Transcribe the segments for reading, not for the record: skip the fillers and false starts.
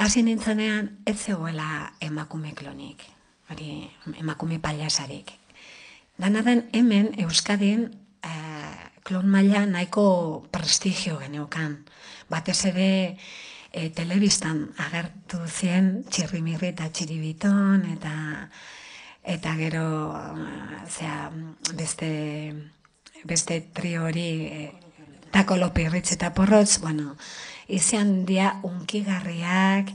hasi nintzenean ez zegoela emakume klonik, hori emakume pailasarik. Dana den hemen Euskadin klon maila nahiko prestigio geneukan. Batez ere telebistan agertu zien Txirrimirri eta Txiribiton eta gero beste trio hori Tako Lopirritz eta Porrotz, bueno, izan dia unkigarriak,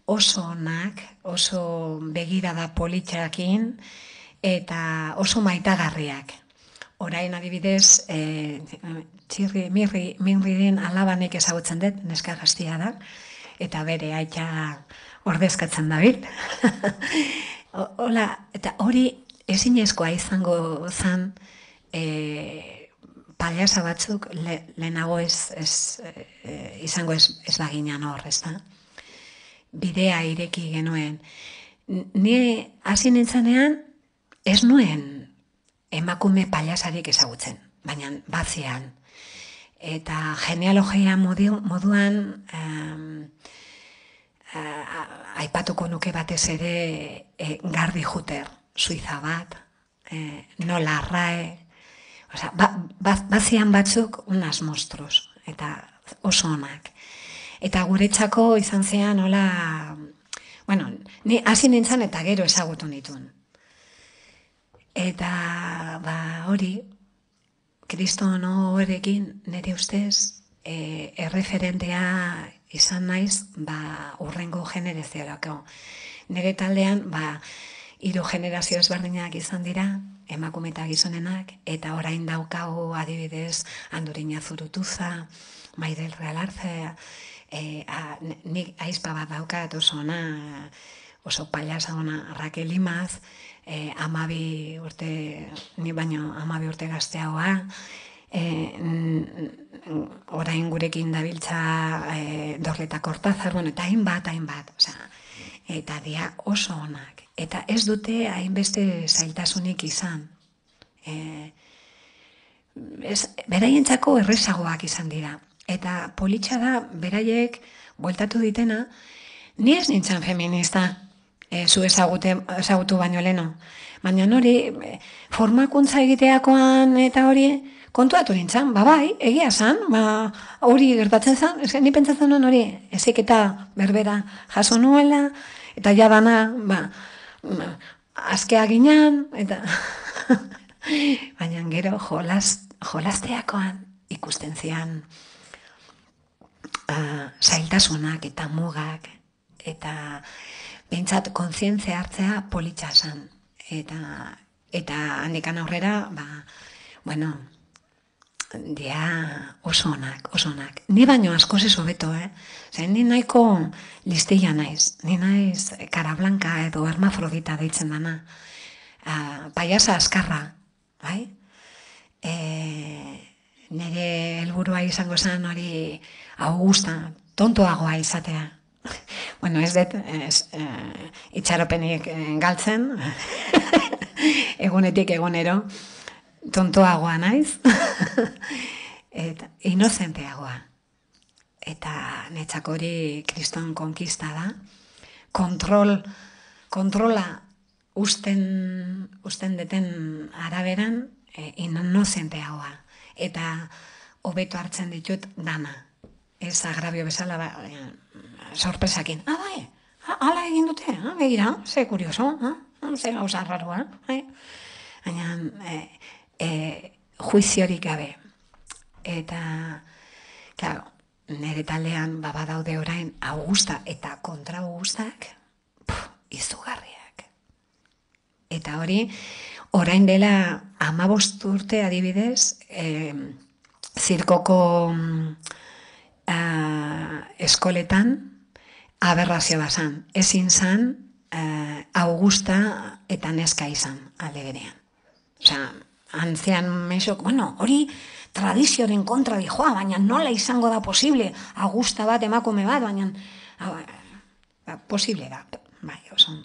oso onak, oso begirada politxakin, eta oso maitagarriak. Orain adibidez, Mirriren alabanek ezagutzen dut, neska gaztia da, eta bere aita ordezkatzen dabil. Hola, eta hori ezinezkoa izango zen paiasa batzuk lehenago izango ez baginan hor, ez da? Bidea ireki genuen. Ni hasi nintzenean ez nuen emakume paiasarik ezagutzen, baina batzean. Eta genealogia moduan aipatuko nuke batez ere Gardi Juter, suiza bat, Nola Arrae, bazian batzuk unas monstruos, eta oso onak. Eta guretzako izan zean, hola, bueno, ni hasi nintzen eta gero ezagutu nituen. Eta, hori, Kriston horrekin nire ustez erreferentea izan naiz, urrengo generazioarako. Nire taldean, 3 generazio ezberdinak izan dira, emakume eta gizonenak, eta orain daukagu adibidez Andurina Zurutuza, Maidel Realarze, nik aizpa bat daukat oso ona, oso paiasa ona Raquel Imaz, 12 urte, ni baino 12 urte gazteagoa, orain gurekin dabiltza Dorleta Kortazar, bueno, eta hainbat, eta dia oso onak. Eta ez dute hainbeste zailtasunik izan. Beraientzako errezagoak izan dira. Eta politxa da, beraiek bueltatu ditena, ni ez nintzen feminista, zu ezagutu baino leno. Baina hori, formakuntza egiteakoan eta hori, kontuatu nintzen, bai, egia zan, hori gertatzen zan, ni pentsatzen nuen hori, ezik eta berbera jaso nuela, eta jadana, azkea ginen, eta baina gero jolasteakoan ikusten zian zailtasunak eta mugak, eta behintzat kontzientzia hartzea politxa zan. Eta handikan aurrera, bueno, dia oso onak. Ni baino askoz ez hobeto, ni nahiko listilla naiz. Ni naiz cara blanca edo hermafrodita deitzen dana. Paiasa askarra, bai? Nire helburua izango zen hori Augusta, tontoagoa izatea. Bueno, ez dut itxaropenik galtzen, egunetik egunero, tontoagoa naiz, eta inozenteagoa. Eta netzako hori kriston konkista da, kontrola usten deten araberan inozenteagoa. Eta hobeto hartzen ditut dana. Ez agrabio bezala, sorpresakin. Bai, ala egin dute, begira, ze kurioso, ze gauza raroa. Baina, juiziorik gabe. Eta, claro, nire taldean badaude orain Augusta eta kontra Augustak, izugarriak. Eta hori, orain dela 15 urte adibidez, zirkoko eskoletan aberrazio bazan. Ezin zan Augusta eta neska izan alde berean. Osea, antzean mesok, bueno, hori tradizioaren kontra dijoa, baina nola izango da posible Augusta bat emakume bat, baina posible da, bai, oso